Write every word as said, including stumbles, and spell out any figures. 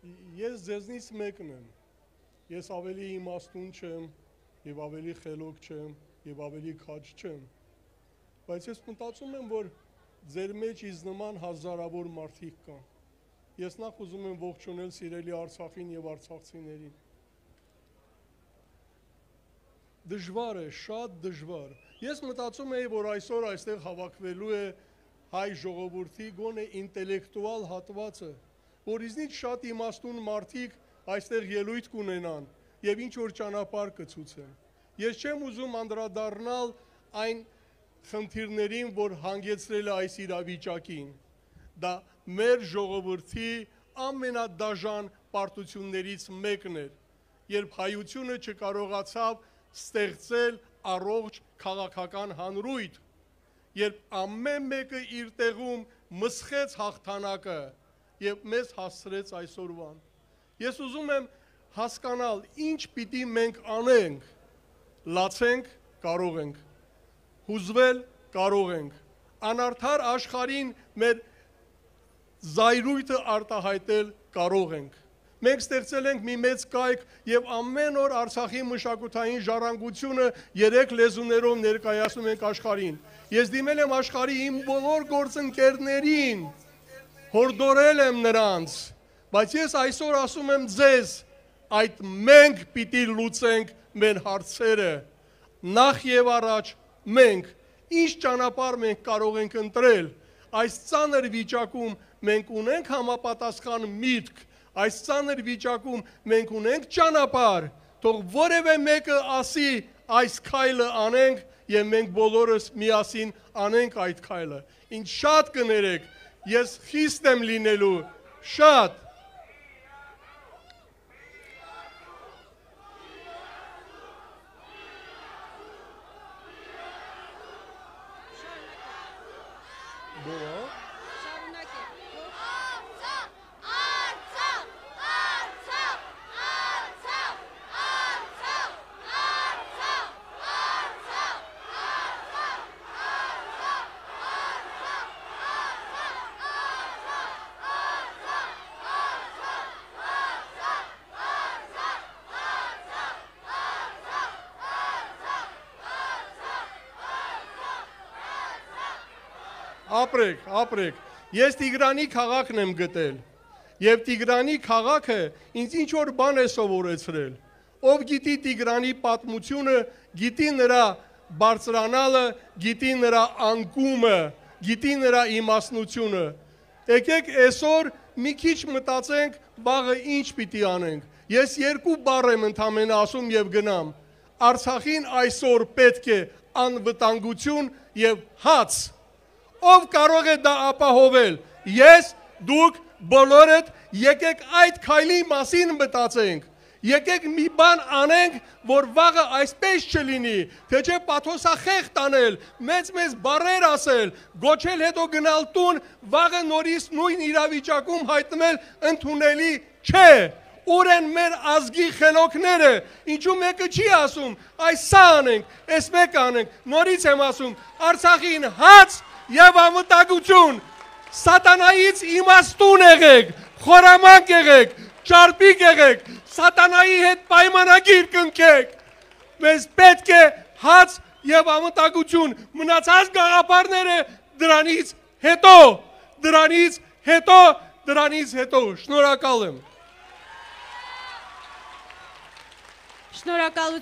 Ես ձեզնից մեկն եմ, ես ավելի իմաստուն չեմ, և ավելի խելոք չեմ, և ավելի քաջ չեմ, բայց ես մտածում եմ, որ ձեր մեջ ինձ նման հազարավոր մարդիկ կան, ես նախ ուզում եմ ողջունել սիրելի Արցախին և արցախցիներին, դժվար է, շատ դժվար, ես մտածում էի, որ այսօր այստեղ հավաքվելու է հայ ժողովրդի գոնե ինտելեկտուալ հատվածը, որ իզնից շատ իմաստուն մարդիկ այստեղ ելույթ կունենան և ինչ-որ ճանապարհ կցուցեն։ Ես չեմ ուզում անդրադառնալ այն խնդիրներին, որ հանգեցրել է այս իրավիճակին։ Դա մեր ժողովրդի ամենադաժան պարտություններից մեկն էր, երբ հայությունը չկարողացավ ստեղծել առողջ քաղաքական հանրույթ, երբ ամեն մեկը իր տեղում մսխեց հաղթանակը և մեզ հասցրեց այսօրվան։ Ես ուզում եմ հասկանալ, ինչ պիտի մենք անենք, լացենք, կարող ենք, հուզվել, կարող ենք, անարդար աշխարհին մեր զայրույթը արտահայտել կարող ենք։ Մենք ստեղծել ենք մի մեծ կայք և ամեն օր Արցախի մշակութային ժառանգությունը երեք լեզուներով ներկայացնում ենք աշխարհին։ Ես դիմել եմ աշխարհի իմ բոլոր գործընկերներին, հորդորել եմ նրանց, բայց ես այսօր ասում եմ ձեզ, այդ մենք պիտի լուծենք մեր հարցերը, նախ և առաջ մենք, ինչ ճանապարհ մենք կարող ենք ընտրել, այս ծանր վիճակում մենք ունենք համապատասխան միտք, այս ծանր վիճակում մենք ունենք ճանապարհ, թող որևէ մեկը ասի այս քայլը անենք և մենք բոլորս միասին անենք այդ քայլը, ինչ շատ կներեք, ես խիստ եմ լինելու, շատ։ Ապրեք, ապրեք, ես Տիգրանի քաղաքն եմ գտել և Տիգրանի քաղաքը ինձ ինչ-որ բան է սովորեցրել, ով գիտի Տիգրանի պատմությունը, գիտի նրա բարձրանալը, գիտի նրա անկումը, գիտի նրա իմաստնությունը, եկեք այսօր մի քիչ մտածենք վաղը ինչ պիտի անենք, ես երկու բառ եմ ընդամենը ասում և գնամ, Արցախին այսօր պետք է անվտանգություն և հաց, ով կարող է դա ապահովել, ես, դուք, բոլորդ, եկեք այդ քայլի մասին մտածենք, եկեք մի բան անենք, որ վաղը այսպես չլինի, թե չէ պաթոսախեղտ անել, մեծ-մեծ բառեր ասել, գոչել հետո գնալ տուն, վաղը նորից նույն իրավիճակում հայտնվել ընդունելի չէ, ուր են մեր ազգի խելոքները, ինչու մեկը չի ասում, այս սա անենք, այս մեկ անենք, նորից եմ ասում, Արցախին հաց և անվտանգություն, սատանայից իմաստուն եղեք, խորամանկ եղեք, ճարպիկ եղեք, սատանայի հետ պայմանագիր կնքեք, մեզ պետք է հաց և անվտանգություն, մնացած գաղափարները դրանից հետո, դրանից հետո, դրանից հետո, շնորհակալ եմ։ Շնորհակալություն